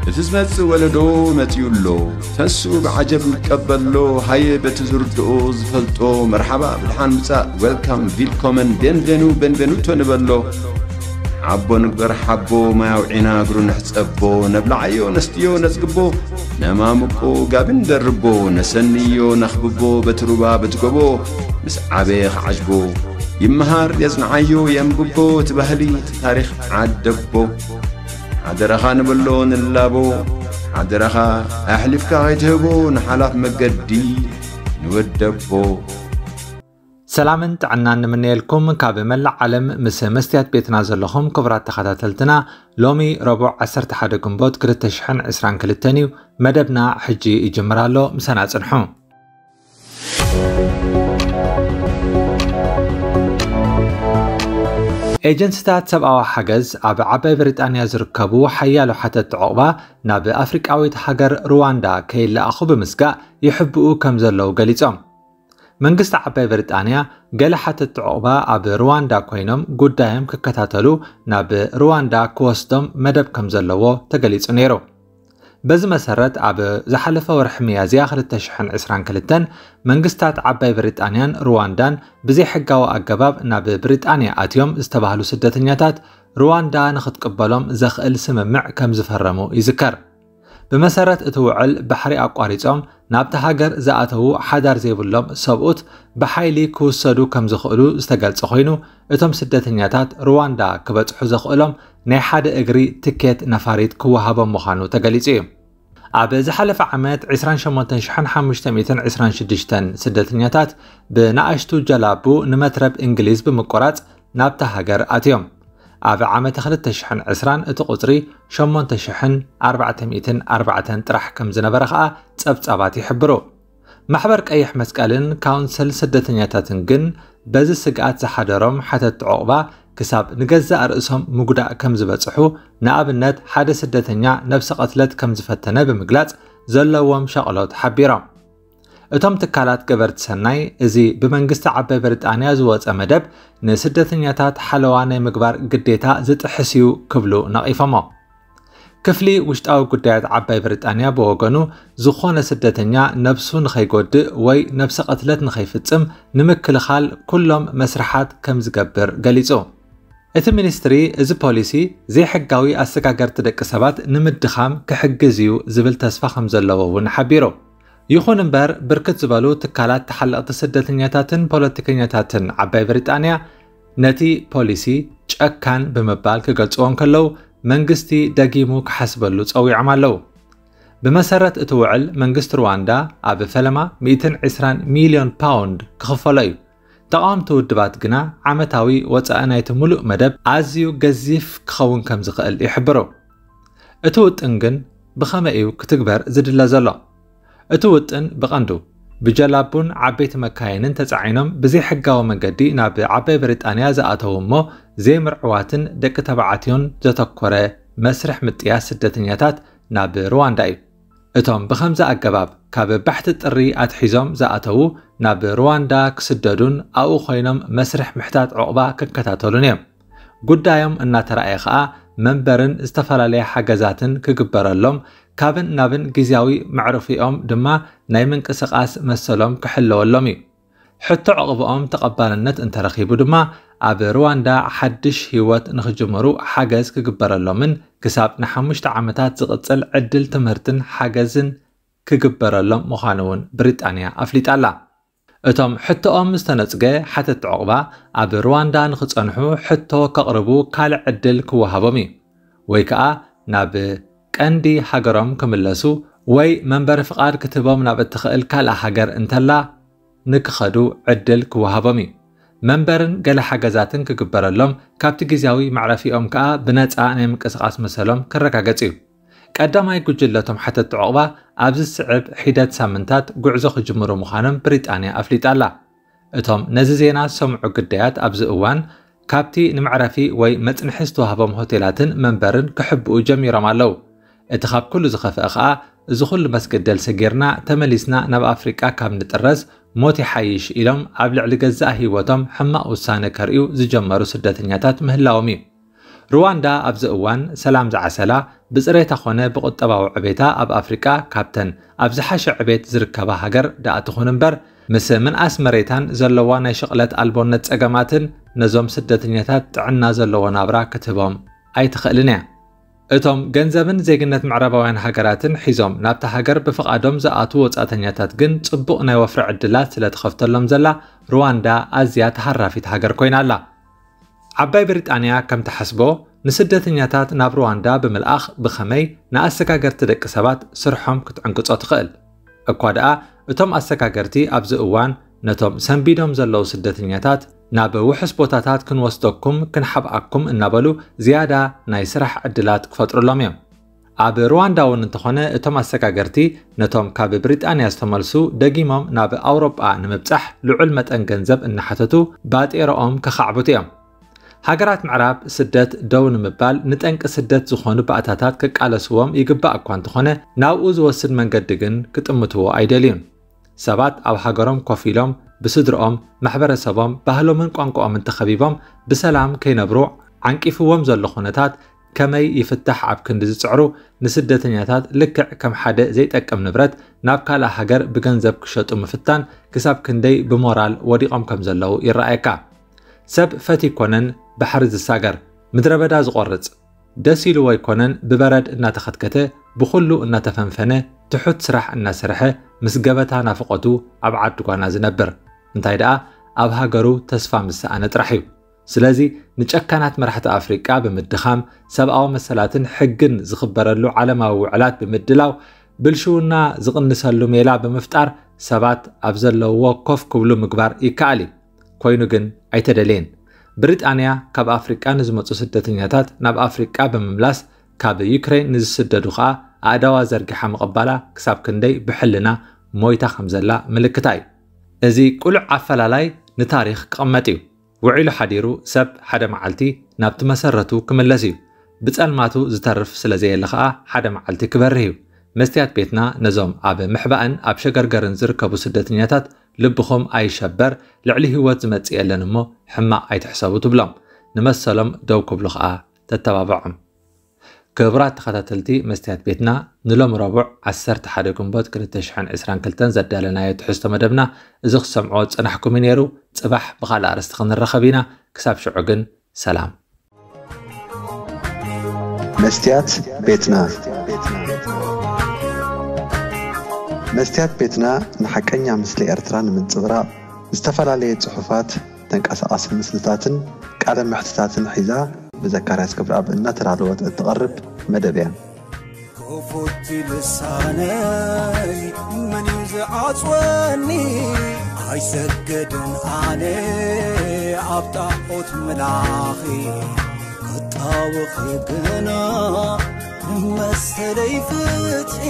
እቲ ዝመጽእ ወለዶ መጺኡ ኣሎ። ተንስኡ ብዓጀብ ንቀበሎ። ሃየ በቲ ዝርድኦ ዝፈልጦ መርሓባ ብድሓን ምጻእ፣ ዌልካም፣ ቪልኮመን፣ ቤንቬኑ፣ ቤንቬኑቶ ንበሎ። ዓቦ ንግበር ሓቦ፣ ማይ ኣውዒና እግሩ ንሕጸቦ። ነብልዓዮ ነስትዮ ነጽግቦ፣ ነማሙቆ ጋቢ ንደርቦ። ነሰንዮ ነኽብቦ በቲ ሩባ በቲ ጎቦ። ምስ ዓበየ ክዓጅቦ ይመሃር የጽንዓዮ የንብቦ። እቲ ባህሊ እቲ ታሪኽ ዓደቦ። ሓደራኻ ንበሎ ንላቦ። ሓደራኻ ኣሕሊፍካ ከይትህቦ ንሓላፍ መገዲ ንወደቦ። ሰላምን ጥዕናን ንምነየልኩም ካብ መላእ ዓለም ምስ መስትያት ቤትና ዘለኹም ክቡራት ተኸታተልትና። ሎሚ ረቡዕ ዓሰርተ ሓደ ግንቦት ክልተ ሽሕን ዕስራን ክልተን እዩ። መደብና ሕጂ ይጅምር ኣሎ። ምሳና ጽንሑ። ኤጀንሲታት ሰብኣዊ ሓገዝ ኣብ ዓባይ ብሪጣንያ ዝርከቡ ሓያሎ ሓተትቲ ዑቕባ ናብ ኣፍሪቃዊት ሃገር ሩዋንዳ ከይለኣኹ ብምስጋእ ይሕብኡ ከም ዘለዉ ገሊጾም። መንግስቲ ዓባይ ብሪጣንያ ገለ ሓተትቲ ዑቕባ ኣብ ሩዋንዳ ኮይኖም ጉዳዮም ክከታተሉ ናብ ሩዋንዳ ክወስዶም መደብ ከም ዘለዎ ተገሊጹ ነይሩ። በዚ መሰረት ኣብ ዝሓለፈ ወርሒ ሚያዝያ ክልተ ሽሕን ዕስራን ክልተን መንግስታት ዓባይ ብሪጣንያን ሩዋንዳን ብዘይሕጋዊ ኣገባብ ናብ ብሪጣንያ ኣትዮም ዝተባህሉ ስደተኛታት ሩዋንዳ ንኽትቅበሎም ዘኽእል ስምምዕ ከም ዝፈረሙ ይዝከር። ብመሰረት እቲ ውዕል ባሕሪ ኣቋሪጾም ናብቲ ሃገር ዝኣተዉ ሓዳር ዘይብሎም ሰብኡት ብሓይሊ ክውሰዱ ከም ዝኽእሉ ዝተገልጸ ኮይኑ እቶም ስደተኛታት ሩዋንዳ ክበጽሑ ዘኽእሎም ናይ ሓደ እግሪ ትኬት ነፋሪት ክወሃቦም ምዃኑ ተገሊጹ እዩ። ኣብ ዝሓለፈ ዓመት ዕስራን ሸሞንተን ሽሕን ሓሙሽተ ሚእትን ዕስራን ሽዱሽተን ስደተኛታት ብንኣሽቱ ጀላቡ ንመትረብ እንግሊዝ ብምቁራጽ ናብታ ሃገር ኣትዮም። ኣብ ዓመተ ክልተ ሽሕን ዕስራን እቲ ቁጽሪ ሸሞንተ ሽሕን ኣርባዕተ ሚእትን ኣርባዕተን ጥራሕ ከም ዝነበረ ከኣ ጸብጻባት ይሕብሩ። ማሕበር ቀይሕ መስቀልን ካውንስል ስደተኛታትን ግን በዚ ስግኣት ዝሓደሮም ሓተትቲ ዑቕባ ክሳብ ንገዛእ ርእሶም ምጉዳእ ከም ዝበጽሑ፣ ንኣብነት ሓደ ስደተኛ ነብሰ ቅትለት ከም ዝፈተነ ብምግላጽ ዘለዎም ሻቕሎት ሓቢሮም። እቶም ትካላት ገበርቲ ሰናይ እዚ ብመንግስቲ ዓባይ ብሪጣንያ ዝወጸ መደብ ንስደተኛታት ሓለዋ ናይ ምግባር ግዴታ ዝጥሕስ እዩ ክብሉ ነቒፎሞ። ክፍሊ ውሽጣዊ ጉዳያት ዓባይ ብሪጣንያ ብወገኑ ዝኾነ ስደተኛ ነብሱ ንኸይጎድእ ወይ ነብሰ ቅትለት ንኸይፍጽም ንምክልኻል ኩሎም መስርሓት ከም ዝገብር ገሊጹ። እቲ ሚኒስትሪ እዚ ፖሊሲ ዘይሕጋዊ ኣሰጋገርቲ ደቂ ሰባት ንምድኻም ክሕግዝ እዩ ዝብል ተስፋ ከም ዘለዎ እውን ሓቢሩ። ይኹን እምበር ብርክት ዝበሉ ትካላት ተሓለቕቲ ስደተኛታትን ፖለቲከኛታትን ዓባይ ብሪጣንያ ነቲ ፖሊሲ ጨካን ብምባል ክገልጽዎ እንከለዉ መንግስቲ ደጊሙ ክሓስበሉ ጸዊዖም ኣለዉ። ብመሰረት እቲ ውዕል መንግስቲ ሩዋንዳ ኣብ ፈለማ ሚእትን ዕስራን ሚልዮን ፓውንድ ክኽፈሎ እዩ። ተቓወምቲ ውድባት ግና ዓመታዊ ወጻኢ ናይቲ ሙሉእ መደብ ኣዝዩ ገዚፍ ክኸውን ከም ዝኽእል ይሕብሩ። እቲ ውጥን ግን ብኸመይ እዩ ክትግበር ዝድለ ዘሎ? እቲ ውጥን ብቐንዱ ብጀላቡን ዓበይቲ መካይንን ተጻዒኖም ብዘይሕጋዊ መንገዲ ናብ ዓባይ ብሪጣንያ ዝኣተዉ እሞ ዘይምርዕዋትን ደቂ ተባዕትዮን ዘተኮረ መስርሕ ምጥያስ ስደተኛታት ናብ ሩዋንዳ እዩ። እቶም ብኸምዚ ኣገባብ ካብ ባሕቲ ጥሪ ኣትሒዞም ዝኣተዉ ናብ ሩዋንዳ ክስደዱን ኣብኡ ኮይኖም መስርሕ ምሕታት ዑቕባ ክከታተሉን እዮም። ጉዳዮም እናተራእየ ከኣ መንበርን ዝተፈላለየ ሓገዛትን ክግበረሎም ካብን ናብን ግዝያዊ መዕረፊኦም ድማ ናይ ምንቅስቓስ መሰሎም ክሕለወሎም እዩ። ሕቶ ዕቕብኦም ተቐባልነት እንተረኺቡ ድማ ኣብ ሩዋንዳ ሓድሽ ህይወት ንኽጅምሩ ሓገዝ ክግበረሎምን ክሳብ ንሓሙሽተ ዓመታት ዝቕጽል ዕድል ትምህርትን ሓገዝን ክግበረሎም ምዃኑ እውን ብሪጣንያ ኣፍሊጣ ኣላ። እቶም ሕቶኦም ዝተነጽገ ሓተትቲ ዕቑባ ኣብ ሩዋንዳ ንኽጸንሑ ሕቶ ከቕርቡ ካልእ ዕድል ክወሃቦም እዩ። ወይ ከኣ ናብ ቀንዲ ሃገሮም ክምለሱ ወይ መንበሪ ፍቓድ ክትህቦም ናብ እትኽእል ካልእ ሃገር እንተላ ንክኸዱ ዕድል ክወሃቦም እዩ። መንበርን ገለ ሓገዛትን ክግበረሎም ካብቲ ግዝያዊ መዕረፊኦም ከኣ ብነጻ ናይ ምንቅስቓስ መሰሎም ክረጋገጽ እዩ። ቀዳማይ ጉጅለቶም ሓተትቲ ዕቑባ ኣብዚ ዝስዕብ ሒደት ሳምንታት ጉዕዞ ክጅምሩ ምዃኖም ብሪጣንያ ኣፍሊጣ ኣላ። እቶም ነዚ ዜና ዝሰምዑ ግዳያት ኣብዚ እዋን ካብቲ ንመዕረፊ ወይ መጽንሒ ዝተዋህቦም ሆቴላትን መንበርን ክሕብኡ ጀሚሮም ኣለዉ። እቲ ካብ ኩሉ ዝኸፍአ ኸኣ እዚ ኩሉ መስገደል ሰጊርና ተመሊስና ናብ ኣፍሪቃ ካብ ንጥረዝ ሞት ይሓይሽ ኢሎም ኣብ ልዕሊ ገዛእ ህይወቶም ሕማቕ ውሳነ ከርእዩ ዝጀመሩ ስደተኛታት ምህላዎም እዩ። ሩዋንዳ ኣብዚ እዋን ሰላም ዝዓሰላ፣ ብፅሬታ ኮነ ብቁጠባዊ ዕቤታ ኣብ ኣፍሪቃ ካብተን ኣብ ዝሓሸ ዕቤት ዝርከባ ሃገር ደኣ ትኹን እምበር፣ ምስ ምንኣስ መሬታን ዘለዋ ናይ ሽቕለት ኣልቦነት ጸገማትን ነዞም ስደተኛታት ጥዕና ዘለዎ ናብራ ክትህቦም ኣይትኽእልን እያ። እቶም ገንዘብን ዜግነት ምዕራባውያን ሃገራትን ሒዞም ናብታ ሃገር ብፍቓዶም ዝኣትዉ ወጻእተኛታት ግን ጽቡቕ ናይ ወፍሪ ዕድላት ስለ ትኸፍተሎም ዘላ፣ ሩዋንዳ ኣዝያ ተሃራፊት ሃገር ኮይና ኣላ። ዓባይ ብሪጣንያ ከም ትሓስቦ፣ ንስደተኛታት ናብ ሩዋንዳ ብምልኣኽ ብኸመይ ንኣሰጋገርቲ ደቂ ሰባት ስርሖም ክትዕንቅጾ ትኽእል? እኳ ደኣ እቶም ኣሰጋገርቲ ኣብዚ እዋን ነቶም ሰንቢዶም ዘለዉ ስደተኛታት ናብ ውሑስ ቦታታት ክንወስደኩም ክንሓብኣኩም እናበሉ ዝያዳ ናይ ስራሕ ዕድላት ክፈጥሩሎም እዮም። ኣብ ሩዋንዳ እውን እንተኾነ እቶም ኣሰጋገርቲ ነቶም ካብ ብሪጣንያ ዝተመልሱ ደጊሞም ናብ ኣውሮጳ ንምብጻሕ ልዑል መጠን ገንዘብ እናሓተቱ ባጤረኦም ከኻዕብቱ እዮም። ሃገራት ምዕራብ ስደት ደው ንምባል ንጠንቂ ስደት ዝኾኑ ባእታታት ክቃለስዎም ይግባእ እኳ እንተኾነ ናብኡ ዝወስድ መንገዲ ግን ክጥምትዎ ኣይደልዩን። ሰባት ኣብ ሃገሮም ኮፍ ኢሎም ብስድርኦም፣ ማሕበረሰቦም፣ ባህሎምን ቋንቋኦምን ተኸቢቦም ብሰላም ከይነብሩ ዓንቂፍዎም ዘሎ ኩነታት ከመይ ይፍታሕ ኣብ ክንዲ ዝጽዕሩ ንስደተኛታት ልክዕ ከም ሓደ ዘይጠቅም ንብረት ናብ ካልእ ሃገር ብገንዘብ ክሸጡ ምፍታን ክሳብ ክንደይ ብሞራል ወዲቖም ከም ዘለዉ ይረኣየካ። ሰብ ፈት ይኮነን ባሕሪ ዝሳገር፣ ምድረ በዳ ዝቖርጽ፣ ደስ ኢልዎ ኣይኮነን ብበረድ እናተኸትከተ ብኹሉ እናተፈንፈነ ትሑት ስራሕ እናሰርሐ ምስ ገበታ ናፍቖቱ ኣብ ዓዲ ጓና ዝነብር። እንታይ ደኣ ኣብ ሃገሩ ተስፋ ምስ ሰኣነ ጥራሕ እዩ። ስለዚ ንጨካናት መራሕቲ ኣፍሪቃ ብምድኻም ሰብኣዊ መሰላትን ሕግን ዝኽበረሉ ዓለማዊ ውዕላት ብምድላው ብልሽውና ዝቕንሰሉ ሜላ ብምፍጣር ሰባት ኣብ ዘለውዎ ኮፍ ክብሉ ምግባር ይከኣል እዩ። ኮይኑ ግን ኣይተደለየን። ብሪጣንያ ካብ ኣፍሪቃ ንዝመጹ ስደተኛታት ናብ ኣፍሪቃ ብምምላስ ካብ ዩክሬን ንዝስደዱ ከኣ ኣእዳዋ ዘርጊሓ ምቕባላ ክሳብ ክንደይ ብሕልና ሞይታ ከም ዘላ ምልክታ እዩ። እዚ ቅሉዕ ኣፈላላይ ንታሪኽ ክቕመጥ እዩ። ውዒሉ ሓዲሩ ሰብ ሓደ መዓልቲ ናብቲ መሰረቱ ክምለስ እዩ። ብጸልማቱ ዝተርፍ ስለ ዘየለ ከኣ ሓደ መዓልቲ ክበርህ እዩ። መስትያት ቤትና ነዞም ኣብ ምሕባእን ኣብ ሸገርገርን ዝርከቡ ስደተኛታት ልብኹም ኣይሸበር፣ ልዕሊ ህይወት ዝመጽእ የለን እሞ ሕማቕ ኣይትሕሰቡ ትብሎም። ንመሰሎም ደው ክብሉ ከኣ ተተባብዖም። ክቡራት ተኸታተልቲ መስትያት ቤትና፣ ንሎም ረቡዕ ዓሰርተ ሓደ ግንቦት ክልተ ሽሕን ዕስራን ክልተን ዘዳለናዮ ትሕዝቶ መደብና እዚ ክሰምዖ ዝጸናሕኩም እዩ ነይሩ። ጽባሕ ብኻልእ ኣርእስቲ ክንራኸብ ኢና። ክሳብ ሽዑ ግን ሰላም። መስትያት ቤትና። መስትያት ቤትና ንሓቀኛ ምስሊ ኤርትራ ንምንጽብራቕ ዝተፈላለየ ጽሑፋት፣ ተንቀሳቓሲ ምስልታትን ቃለ መሕትታትን ሒዛ ብዘካርያስ ገብረኣብ እናተዳለወት እትቐርብ መደብ እያ። ክፉት ልሳነይ መን እዩ ዝዓጽወኒ? ኣይሰግድን ኣነ ኣብ ጣዖት ምላኺ፣ ክጣወኺ ግና መሰለይ ፍትሒ።